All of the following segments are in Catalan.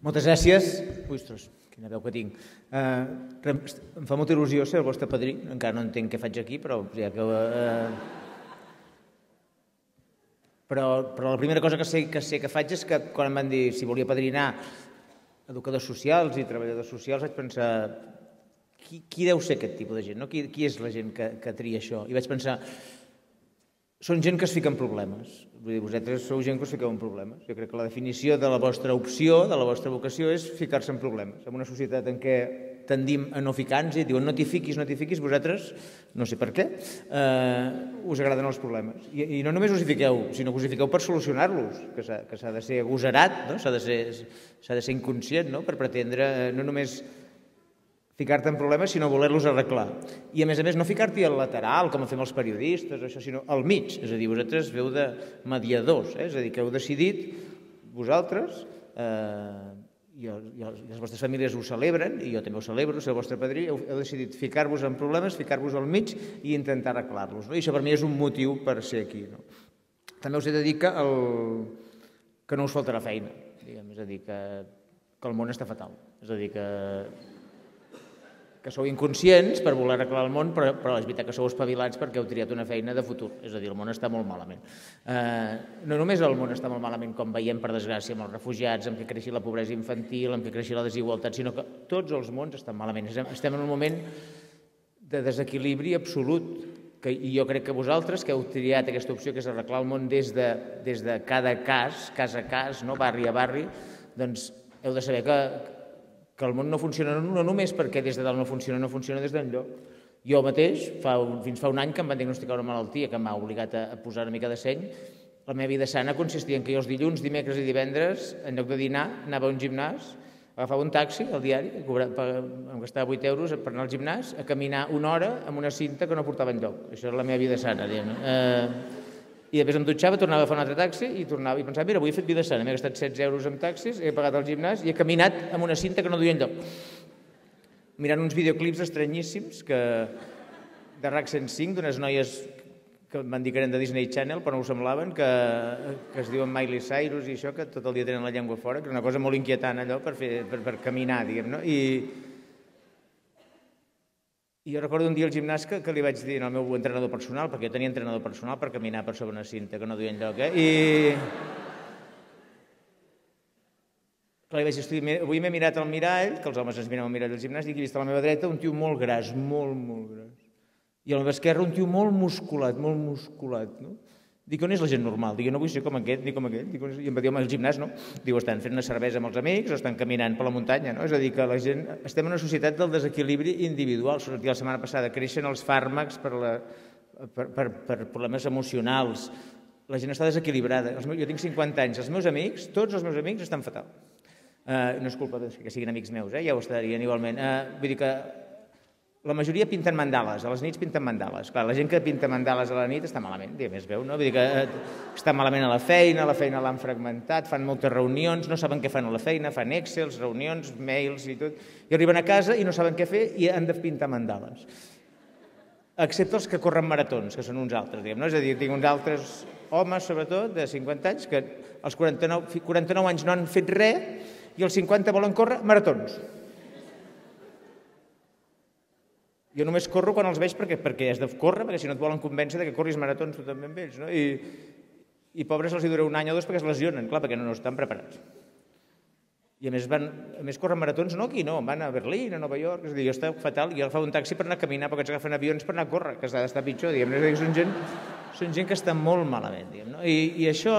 Moltes gràcies. Ui, ostres, quina veu que tinc. Em fa molta il·lusió ser el vostre padrí. Encara no entenc què faig aquí, però ja que... Però la primera cosa que sé que faig és que quan em van dir si volia padrinar educadors socials i treballadors socials vaig pensar qui deu ser aquest tipus de gent, no? Qui és la gent que tria això? I vaig pensar, són gent que es fica en problemes. Vull dir, vosaltres sou gent que us fiqueu en problemes. Jo crec que la definició de la vostra opció, de la vostra vocació, és ficar-se en problemes. En una societat en què tendim a no ficar-nos i diuen no t'hi fiquis, vosaltres, no sé per què, us agraden els problemes. I no només us hi fiqueu, sinó que us hi fiqueu per solucionar-los, que s'ha de ser agosarat, no? S'ha de ser inconscient, no? Per pretendre no només ficar-te en problemes, sinó voler-los arreglar. I, a més, no ficar-t'hi al lateral, com fem els periodistes, això, sinó al mig. És a dir, vosaltres veu de mediadors, és a dir, que heu decidit, vosaltres, i les vostres famílies ho celebren, i jo també ho celebro, ser el vostre padrí, heu decidit ficar-vos en problemes, ficar-vos al mig i intentar arreglar-los. I això per mi és un motiu per ser aquí. També us he de dir que no us faltarà feina, és a dir, que el món està fatal. És a dir, que sou inconscients per voler arreglar el món, però és veritat que sou espavilats perquè heu triat una feina de futur. És a dir, el món està molt malament. No només el món està molt malament, com veiem, per desgràcia, amb els refugiats, amb què creixi la pobresa infantil, amb què creixi la desigualtat, sinó que tots els mons estan malament. Estem en un moment de desequilibri absolut, i jo crec que vosaltres, que heu triat aquesta opció, que és arreglar el món des de cada cas a cas, barri a barri, doncs heu de saber que el món no funciona no només perquè des de dalt no funciona des d'enlloc. Jo mateix, fins fa un any que em van diagnosticar una malaltia que m'ha obligat a posar una mica de seny, la meva vida sana consistia en que jo els dilluns, dimecres i divendres, en lloc de dinar, anava a un gimnàs, agafava un taxi al diari, em gastava 8 euros per anar al gimnàs, a caminar una hora amb una cinta que no portava enlloc. Això era la meva vida sana, diguem-ne. I després em dutxava, tornava a agafar un altre taxi i tornava i pensava, mira, avui he fet vida sana, m'he gastat 16 euros en taxis, he pagat el gimnàs i he caminat amb una cinta que no duia enlloc. Mirant uns videoclips estranyíssims de RAC 105, d'unes noies que em van dir que eren de Disney Channel, però no ho semblaven, que es diuen Miley Cyrus i això, que tot el dia tenen la llengua fora, que és una cosa molt inquietant allò per caminar, diguem, no? I jo recordo un dia al gimnàs que li vaig dir al meu entrenador personal, perquè jo tenia entrenador personal per caminar per sobre una cinta, que no duia enlloc, i li vaig dir, avui m'he mirat al mirall, que els homes ens mirem al mirall del gimnàs, i he vist a la meva dreta un tio molt gras, molt gras, i a la meva esquerra un tio molt musculat, no? Dic, on és la gent normal? Dic, jo no vull ser com aquest ni com aquell. I em va dir, home, al gimnàs no. Diu, estan fent una cervesa amb els amics o estan caminant per la muntanya, no? És a dir, que la gent... Estem en una societat del desequilibri individual. La setmana passada creixen els fàrmacs per problemes emocionals. La gent està desequilibrada. Jo tinc 50 anys. Els meus amics, tots els meus amics, estan fatal. No és culpa que siguin amics meus, ja ho estarien igualment. Vull dir que la majoria pinten mandales, a les nits pinten mandales. Clar, la gent que pinta mandales a la nit està malament, diguem, es veu, no? Vull dir que està malament a la feina l'han fragmentat, fan moltes reunions, no saben què fan a la feina, fan excels, reunions, mails i tot, i arriben a casa i no saben què fer i han de pintar mandales. Excepte els que corren maratons, que són uns altres, diguem, no? És a dir, tinc uns altres homes, sobretot, de 50 anys, que als 49 anys no han fet res i als 50 volen córrer maratons. Jo només corro quan els veig perquè has de córrer, perquè si no et volen convèncer que corris maratons tu també amb ells, no? I pobres els hi dura un any o dos perquè es lesionen, clar, perquè no estan preparats. I a més corren maratons, no aquí, no, van a Berlín, a Nova York, és a dir, jo està fatal, jo agafava un taxi per anar a caminar, perquè ens agafen avions per anar a córrer, que s'ha d'estar pitjor, diguem, és a dir, són gent que està molt malament, diguem, no? I això...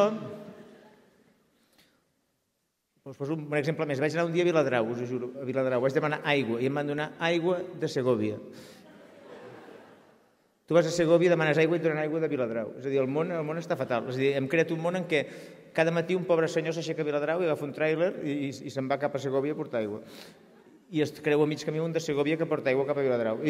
Us poso un exemple més. Vaig anar un dia a Viladrau, us ho juro, a Viladrau. Vaig demanar aigua i em van donar aigua de Segòvia. Tu vas a Segòvia, demanes aigua i et donen aigua de Viladrau. És a dir, el món està fatal. És a dir, hem creat un món en què cada matí un pobre senyor s'aixeca a Viladrau i agafa un tràiler i se'n va cap a Segòvia a portar aigua. I es creu a mig camí un de Segòvia que porta aigua cap a Viladrau.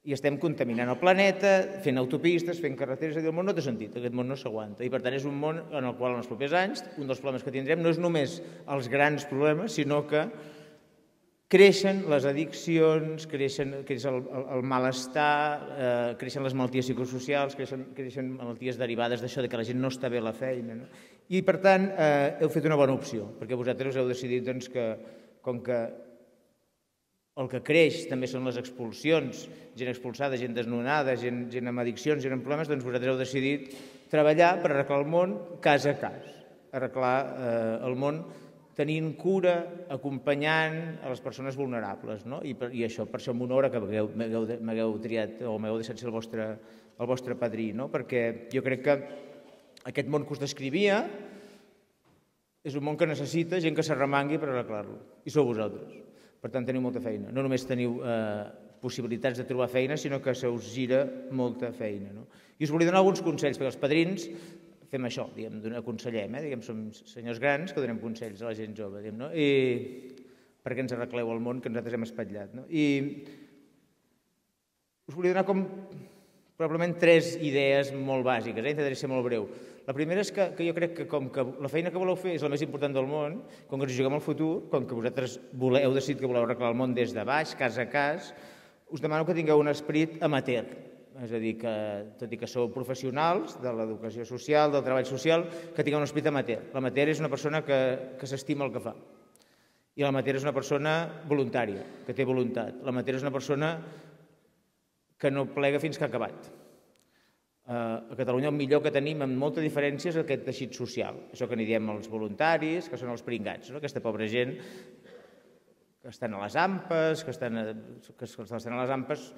I estem contaminant el planeta, fent autopistes, fent carreteres, és a dir, el món no té sentit, aquest món no s'aguanta. I per tant és un món en el qual en els propers anys un dels problemes que tindrem no és només els grans problemes, sinó que creixen les addiccions, creix el malestar, creixen les malalties psicosocials, creixen malalties derivades d'això, que la gent no està bé a la feina. I, per tant, heu fet una bona opció, perquè vosaltres heu decidit que, com que el que creix també són les expulsions, gent expulsada, gent desnonada, gent amb addiccions, gent amb problemes, doncs vosaltres heu decidit treballar per arreglar el món cas a cas, arreglar el món tenint cura, acompanyant a les persones vulnerables. I això, per això m'honora que m'hagueu triat o m'hagueu deixat ser el vostre padrí, perquè jo crec que aquest món que us descrivia és un món que necessita gent que s'arremangui per arreglar-lo, i sou vosaltres. Per tant, teniu molta feina. No només teniu possibilitats de trobar feina, sinó que se us gira molta feina. I us volia donar alguns consells, perquè els padrins fem això, aconsellem, som senyors grans que donem consells a la gent jove, perquè ens arregleu el món que nosaltres hem espatllat. I us volia donar probablement 3 idees molt bàsiques, intentaré ser molt breu. La primera és que jo crec que com que la feina que voleu fer és la més important del món, com que ens juguem al futur, com que vosaltres heu decidit que voleu arreglar el món des de baix, cas a cas, us demano que tingueu un esperit amateur. És a dir, que tot i que sou professionals de l'educació social, del treball social, que tingueu un esperit amateur. L'amateur és una persona que s'estima el que fa. I l'amateur és una persona voluntària, que té voluntat. L'amateur és una persona que no plega fins que ha acabat. A Catalunya el millor que tenim amb molta diferència és aquest teixit social. Això que n'hi diem els voluntaris, que són els pringats, aquesta pobra gent que estan a les AMPes, que estan a les AMPes,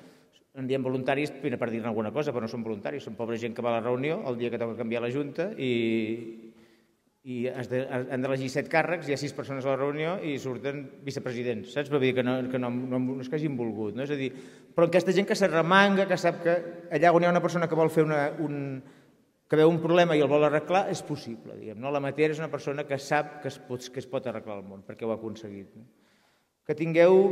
en diem voluntaris per dir-ne alguna cosa, però no són voluntaris, són pobra gent que va a la reunió el dia que toca canviar la Junta i han d'elegir 7 càrrecs, hi ha 6 persones a la reunió i surten vicepresidents, saps? Vull dir que no és que hagin volgut, no? És a dir, però aquesta gent que s'arremanga, que sap que allà on hi ha una persona que vol fer que veu un problema i el vol arreglar, és possible, diguem. L'amateur és una persona que sap que es pot arreglar el món, perquè ho ha aconseguit. Que tingueu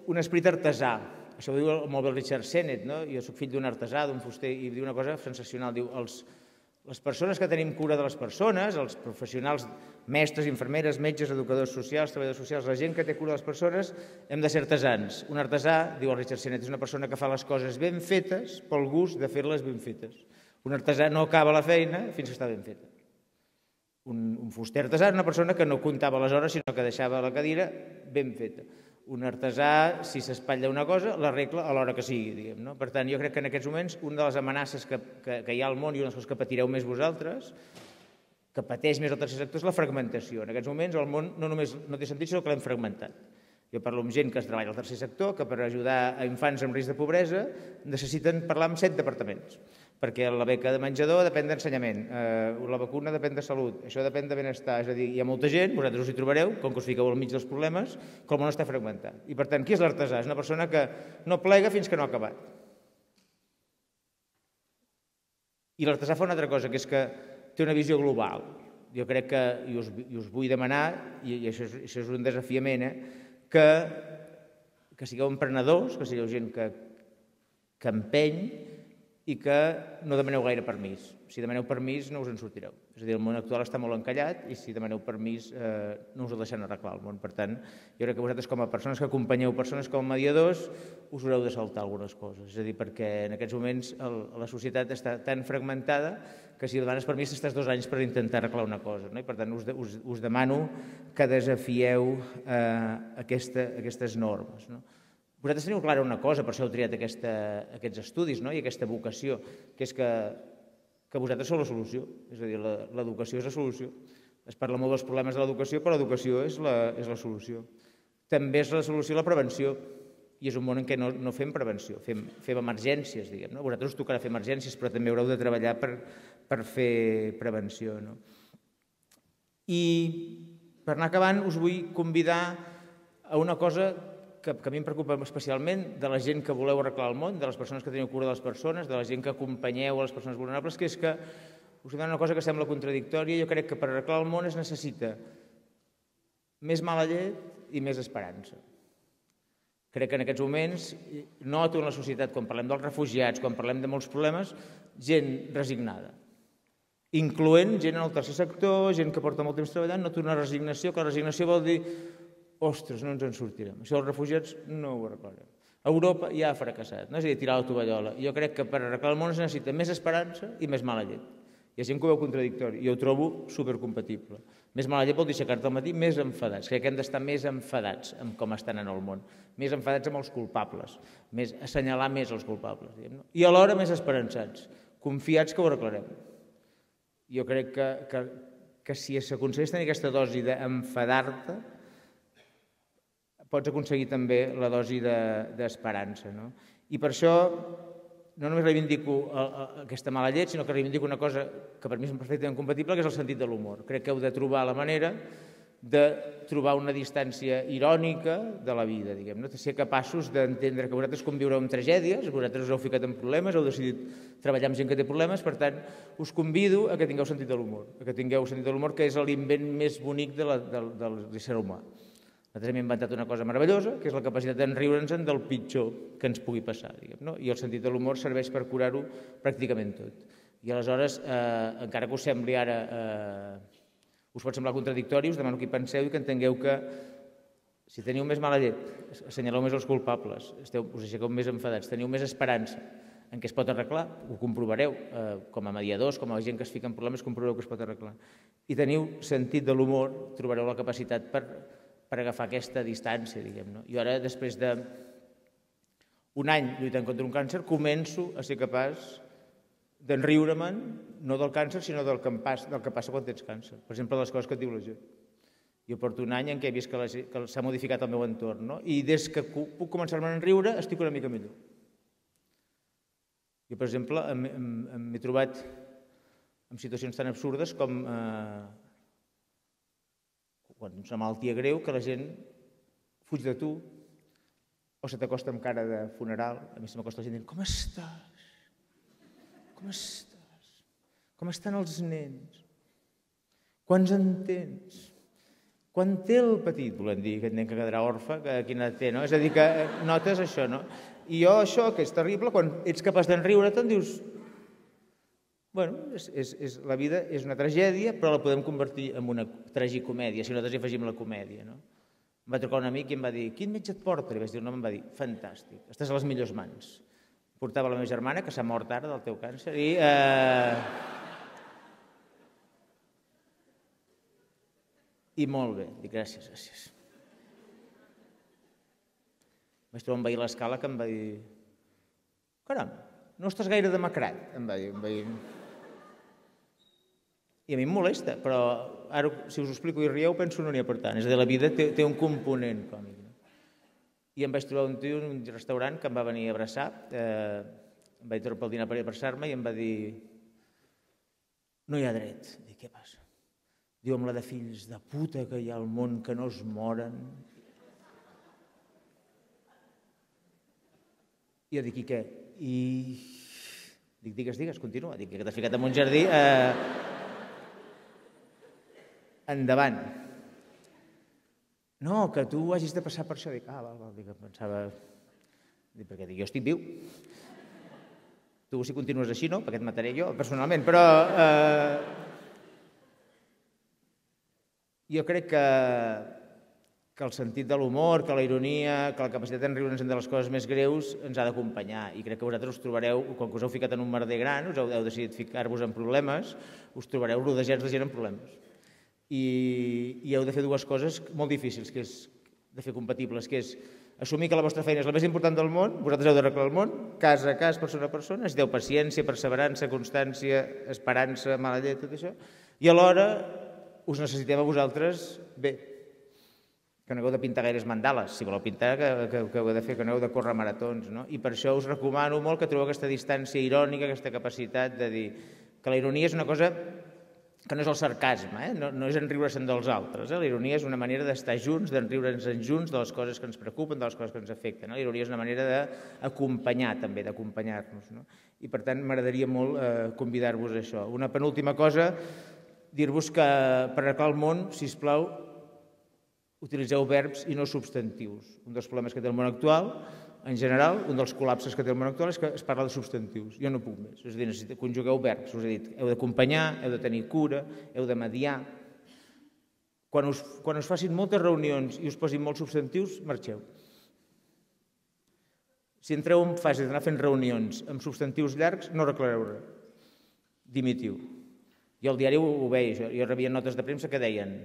un esperit artesà. Això ho diu molt bé el Richard Sennett, no? Jo soc fill d'un artesà, d'un fuster, i diu una cosa sensacional, diu les persones que tenim cura de les persones, els professionals, mestres, infermeres, metges, educadors socials, treballadors socials, la gent que té cura de les persones, hem de ser artesans. Un artesà, diu el Richard Sennett, és una persona que fa les coses ben fetes pel gust de fer-les ben fetes. Un artesà no acaba la feina fins que està ben feta. Un fuster artesà és una persona que no comptava les hores, sinó que deixava la cadira ben feta. Un artesà, si s'espatlla una cosa, l'arregla a l'hora que sigui, diguem. Per tant, jo crec que en aquests moments una de les amenaces que hi ha al món i una de les coses que patireu més vosaltres, que pateix més el tercer sector, és la fragmentació. En aquests moments el món no només no té sentit, sinó que l'hem fragmentat. Jo parlo amb gent que treballa al tercer sector, que per ajudar a infants amb risc de pobresa necessiten parlar amb 7 departaments, perquè la beca de menjador depèn d'ensenyament, la vacuna depèn de salut, això depèn de benestar. És a dir, hi ha molta gent, vosaltres us hi trobareu, com que us fiqueu al mig dels problemes, que el món està fragmentat. I per tant, qui és l'artesà? És una persona que no plega fins que no ha acabat. I l'artesà fa una altra cosa, que és que té una visió global. Jo crec que, i us vull demanar, i això és un desafiament, que sigueu emprenedors, que sigueu gent que empeny i que no demaneu gaire permís. Si demaneu permís no us en sortireu. És a dir, el món actual està molt encallat i si demaneu permís no us el deixen arreglar el món. Per tant, jo crec que vosaltres com a persones que acompanyeu persones com a mediadors us haureu de saltar algunes coses. És a dir, perquè en aquests moments la societat està tan fragmentada que si demanes permís estàs 2 anys per intentar arreglar una cosa. I per tant us demano que desafieu aquestes normes. Vosaltres teniu clara una cosa, per això heu triat aquests estudis i aquesta vocació, que és que vosaltres sou la solució. És a dir, l'educació és la solució. Es parla molt dels problemes de l'educació, però l'educació és la solució. També és la solució la prevenció. I és un món en què no fem prevenció, fem emergències, diguem. Vosaltres us tocarà fer emergències, però també haureu de treballar per fer prevenció. I per anar acabant us vull convidar a una cosa que a mi em preocupa especialment de la gent que voleu arreglar el món, de les persones que teniu cura de les persones, de la gent que acompanyeu a les persones vulnerables, que és que us dono una cosa que sembla contradictòria. Jo crec que per arreglar el món es necessita més mala llet i més esperança. Crec que en aquests moments noto en la societat, quan parlem dels refugiats, quan parlem de molts problemes, gent resignada, incloent gent en el tercer sector, gent que porta molt temps treballant, noto una resignació, que la resignació vol dir ostres, no ens en sortirem. Això dels refugiats no ho arreglarem. Europa ja ha fracassat, no? És a dir, tirar la tovallola. Jo crec que per arreglar el món es necessita més esperança i més mala llet. Hi ha gent que ho veu contradictori, i ho trobo supercompatible. Més mala llet vol dir aixecar-te al matí més enfadats. Crec que hem d'estar més enfadats amb com estan en el món, més enfadats amb els culpables, més assenyalar més els culpables, no? I alhora més esperançats, confiats que ho arreglarem. Jo crec que si s'aconsegueix tenir aquesta dosi d'enfadar-te, pots aconseguir també la dosi d'esperança. I per això no només reivindico aquesta mala llet, sinó que reivindico una cosa que per mi és perfectament compatible, que és el sentit de l'humor. Crec que heu de trobar la manera de trobar una distància irònica de la vida, diguem-ne, de ser capaços d'entendre que vosaltres conviureu amb tragèdies, vosaltres us heu ficat en problemes, heu decidit treballar amb gent que té problemes, per tant, us convido a que tingueu sentit de l'humor, que és l'invent més bonic de l'ésser humà. Nosaltres hem inventat una cosa meravellosa, que és la capacitat d'enriure'ns del pitjor que ens pugui passar, diguem-ne, i el sentit de l'humor serveix per curar-ho pràcticament tot. I aleshores, encara que us sembli ara, us pot semblar contradictori, us demano que hi penseu i que entengueu que si teniu més mala llet, assenyaleu més els culpables, us aixequeu més enfadats, teniu més esperança en què es pot arreglar, ho comprovareu, com a mediadors, com a gent que es fica en problemes, comprovareu que es pot arreglar. I teniu sentit de l'humor, trobareu la capacitat per agafar aquesta distància, diguem-ne. Jo ara, després d'un any lluitant contra un càncer, començo a ser capaç d'enriure-me'n, no del càncer, sinó del que passa quan tens càncer. Per exemple, les coses que et diu la gent. Jo porto un any en què he vist que s'ha modificat el meu entorn, i des que puc començar-me a enriure estic una mica millor. Jo, per exemple, m'he trobat en situacions tan absurdes com quan és una malaltia greu, que la gent fuig de tu o se t'acosta amb cara de funeral. A mi se m'acosta la gent dient: com estàs? Com estàs? Com estan els nens? Quants en tens? Quan té el petit? Volem dir aquest nen que quedarà orfe, quina edat té, no? És a dir, que notes això, no? I jo això, que és terrible, quan ets capaç d'enriure-te'n, dius: bueno, la vida és una tragèdia, però la podem convertir en una tragicomèdia, si nosaltres hi afegim la comèdia. Em va trucar un amic i em va dir: quin metge et porta? Li vaig dir el nom, em va dir: fantàstic, estàs a les millors mans. Portava la meva germana, que s'ha mort ara del teu càncer, i molt bé. Dic: gràcies, gràcies. Vaig trobar un veí a l'escala que em va dir: caram, no estàs gaire demacrat, em va dir. I a mi em molesta, però ara, si us ho explico i rieu, penso no n'hi ha per tant. És a dir, la vida té un component còmic. I em vaig trobar un tio en un restaurant que em va venir a abraçar, em vaig trobar pel dinar per abraçar-me i em va dir: no hi ha dret. Dic: què passa? Diu: amb la de fills de puta que hi ha al món que no es moren. I jo dic: i què? I dic: digues, continua. Dic: que t'has ficat en un jardí. Endavant. No, que tu hagis de passar per això. Dic: val, dic, pensava... Dic: perquè jo estic viu. Tu, si continues així, no, perquè et mataré jo, personalment, però... Jo crec que el sentit de l'humor, que la ironia, que la capacitat d'enriure'ns de les coses més greus ens ha d'acompanyar. I crec que vosaltres us trobareu, quan us heu ficat en un merder gran, us heu decidit ficar-vos en problemes, us trobareu rodejats de gent en problemes. I heu de fer dues coses molt difícils, que és de fer compatibles, que és assumir que la vostra feina és la més important del món, vosaltres heu d'arreglar el món, cas a cas, persona a persona, necessiteu paciència, perseverança, constància, esperança, mala llet, tot això, i alhora us necessitem a vosaltres bé, que no heu de pintar gaires mandales, si voleu pintar, que heu de fer, que no heu de córrer maratons, no? I per això us recomano molt que trobeu aquesta distància irònica, aquesta capacitat de dir que la ironia és una cosa que no és el sarcasme, no és enriure-se'n dels altres. La ironia és una manera d'estar junts, d'enriure'ns junts de les coses que ens preocupen, de les coses que ens afecten. La ironia és una manera d'acompanyar, també, d'acompanyar-nos. I, per tant, m'agradaria molt convidar-vos a això. Una penúltima cosa, dir-vos que per arreglar el món, sisplau, utilitzeu verbs i no substantius. Un dels problemes que té el món actual, en general, un dels col·lapses que té el món actual és que es parla de substantius. Jo no puc més. És a dir, conjugueu verbs. Us he dit, heu d'acompanyar, heu de tenir cura, heu de mediar. Quan us facin moltes reunions i us posin molts substantius, marxeu. Si entreu en fase d'anar fent reunions amb substantius llargs, no arreglareu res. Dimitiu. I el diari ho veia, jo rebia notes de premsa que deien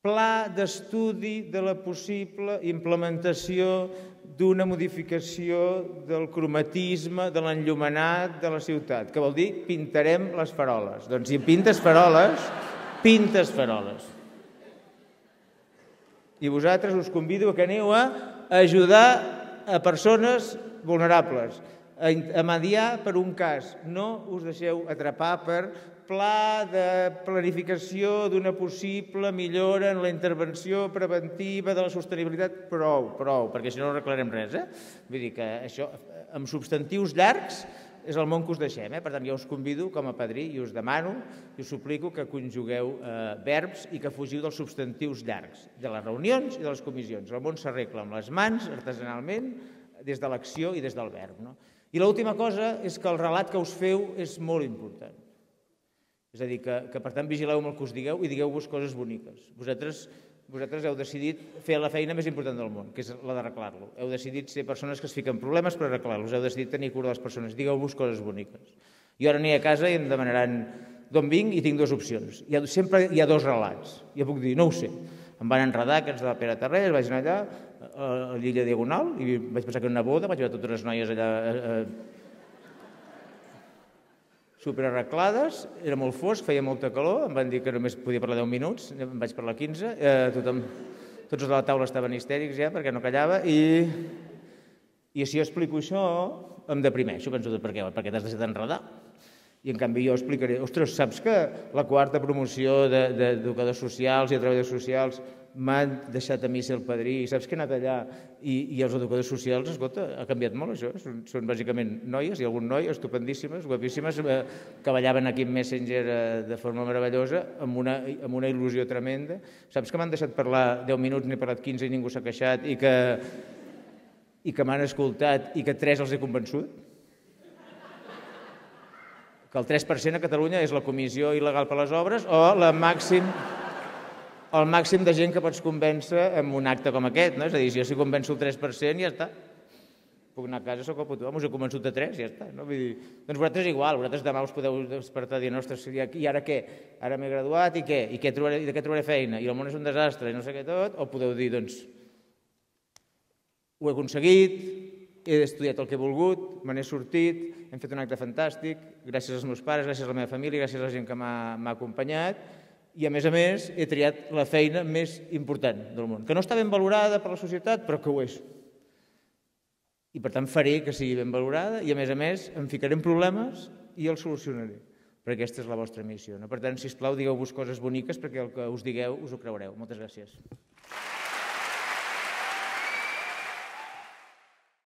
pla d'estudi de la possible implementació d'una modificació del cromatisme, de l'enllumenat de la ciutat, que vol dir pintarem les faroles. Doncs si pintes faroles, pintes faroles. I vosaltres us convido que aneu a ajudar a persones vulnerables, a mediar per un cas. No us deixeu atrapar per pla de planificació d'una possible millora en la intervenció preventiva de la sostenibilitat. Prou, perquè si no arreglarem res. Vull dir que això, amb substantius llargs, és el món que us deixem. Per tant, jo us convido com a padrí i us demano i us suplico que conjugueu verbs i que fugiu dels substantius llargs, de les reunions i de les comissions. El món s'arregla amb les mans, artesanalment, des de l'acció i des del verb. I l'última cosa és que el relat que us feu és molt important. És a dir, que per tant vigileu amb el que us digueu i digueu-vos coses boniques. Vosaltres heu decidit fer la feina més important del món, que és la d'arreglar-lo. Heu decidit ser persones que es fiquen problemes per arreglar-los. Heu decidit tenir cura de les persones. Digueu-vos coses boniques. Jo ara aniré a casa i em demanaran d'on vinc i tinc dues opcions. Sempre hi ha dos relats. Jo puc dir, no ho sé. Em van enredar aquests de la Pere Tarrés, vaig anar allà a l'illa Diagonal i vaig pensar que era una boda, vaig veure totes les noies allà superarreglades, era molt fosc, feia molta calor, em van dir que només podia parlar 10 minuts, em vaig parlar 15, tots els de la taula estaven histèrics ja perquè no callava i si jo explico això em deprimeixo, penso per què? Perquè t'has deixat enredar. I en canvi jo explicaré, ostres, saps que la quarta promoció d'educadors socials i de treballadors socials m'han deixat a mi ser el padrí i saps que he anat allà i els educadors socials, escolta, ha canviat molt això, són bàsicament noies i algun noi estupendíssimes, guapíssimes, que ballaven aquí en Messenger de forma meravellosa, amb una il·lusió tremenda. Saps que m'han deixat parlar 10 minuts, n'he parlat 15 i ningú s'ha queixat i que m'han escoltat i que 3 els he convençut? Que el 3% a Catalunya és la comissió il·legal per les obres o el màxim de gent que pots convèncer amb un acte com aquest. És a dir, si jo convenço el 3% ja està. Puc anar a casa, soc el puto amo, us he convençut de 3, ja està. Doncs vosaltres igual, vosaltres demà us podeu despertar i dir, ostres, i ara què? Ara m'he graduat i què? I de què trobaré feina? I el món és un desastre i no sé què tot? O podeu dir, doncs, ho he aconseguit, he estudiat el que he volgut, me n'he sortit, hem fet un acte fantàstic, gràcies als meus pares, gràcies a la meva família, gràcies a la gent que m'ha acompanyat i, a més, he triat la feina més important del món, que no està ben valorada per la societat, però que ho és. I, per tant, faré que sigui ben valorada i, a més, em ficaré en problemes i els solucionaré, perquè aquesta és la vostra missió. Per tant, sisplau, digueu-vos coses boniques perquè el que us digueu us ho creureu. Moltes gràcies.